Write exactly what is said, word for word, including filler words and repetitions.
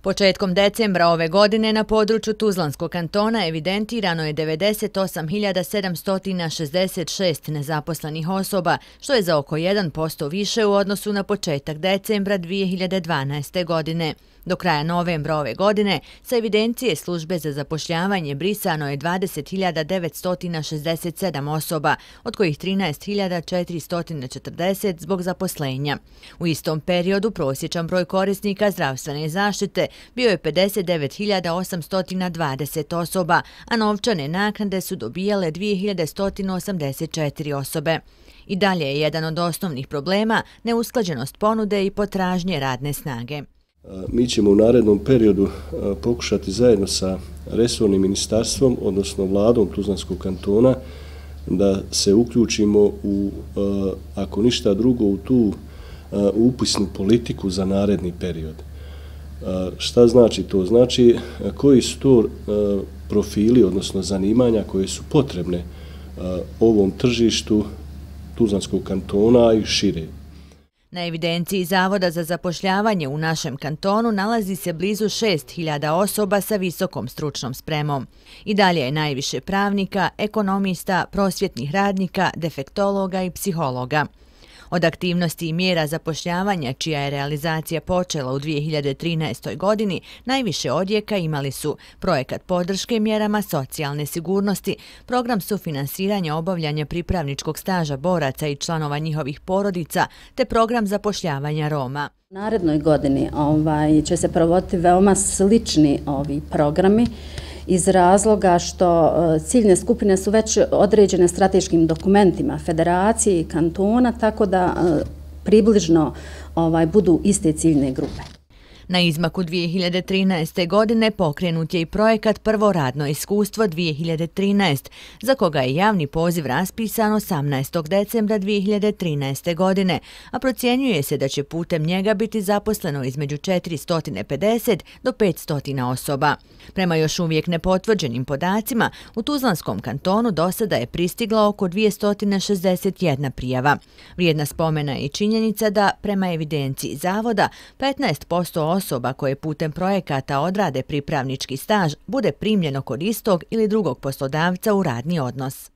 Početkom decembra ove godine na području Tuzlanskog kantona evidentirano je devedeset osam hiljada sedamsto šezdeset šest nezaposlenih osoba, što je za oko jedan posto više u odnosu na početak decembra dvije hiljade dvanaeste. godine. Do kraja novembra ove godine sa evidencije službe za zapošljavanje brisano je dvadeset hiljada devetsto šezdeset sedam osoba, od kojih trinaest hiljada četiristo četrdeset zbog zaposlenja. U istom periodu prosječan broj korisnika zdravstvene zaštite bio je pedeset devet hiljada osamsto dvadeset osoba, a novčane naknade su dobijale dvije hiljade sto osamdeset četiri osobe. I dalje je jedan od osnovnih problema neusklađenost ponude i potražnje radne snage. Mi ćemo u narednom periodu pokušati zajedno sa resornim ministarstvom, odnosno vladom Tuzlanskog kantona, da se uključimo u, ako ništa drugo, u tu upisnu politiku za naredni period. Šta znači to? Znači koji su to profili, odnosno zanimanja koje su potrebne ovom tržištu Tuzlanskog kantona i šire. Na evidenciji Zavoda za zapošljavanje u našem kantonu nalazi se blizu šest hiljada osoba sa visokom stručnom spremom. I dalje je najviše pravnika, ekonomista, prosvjetnih radnika, defektologa i psihologa. Od aktivnosti i mjera zapošljavanja, čija je realizacija počela u dvije hiljade trinaestoj. godini, najviše odjeka imali su projekat podrške mjerama socijalne sigurnosti, program sufinansiranja obavljanja pripravničkog staža boraca i članova njihovih porodica, te program zapošljavanja Roma. U narednoj godini ovaj, će se provoditi veoma slični ovi programi, iz razloga što ciljne skupine su već određene strateškim dokumentima federacije i kantona, tako da približno ovaj, budu iste ciljne grupe. Na izmaku dvije hiljade trinaeste. godine pokrenut je i projekat Prvo radno iskustvo dvije hiljade trinaeste. za koga je javni poziv raspisan osamnaestog decembra dvije hiljade trinaeste. godine, a procjenjuje se da će putem njega biti zaposleno između četiristo pedeset do petsto osoba. Prema još uvijek nepotvrđenim podacima, u Tuzlanskom kantonu do sada je pristigla oko dvjesto šezdeset jedna prijava. Vrijedna spomena je i činjenica da, prema evidenciji Zavoda, petnaest posto osoba koje putem projekata odrade pripravnički staž bude primljeno kod istog ili drugog poslodavca u radni odnos.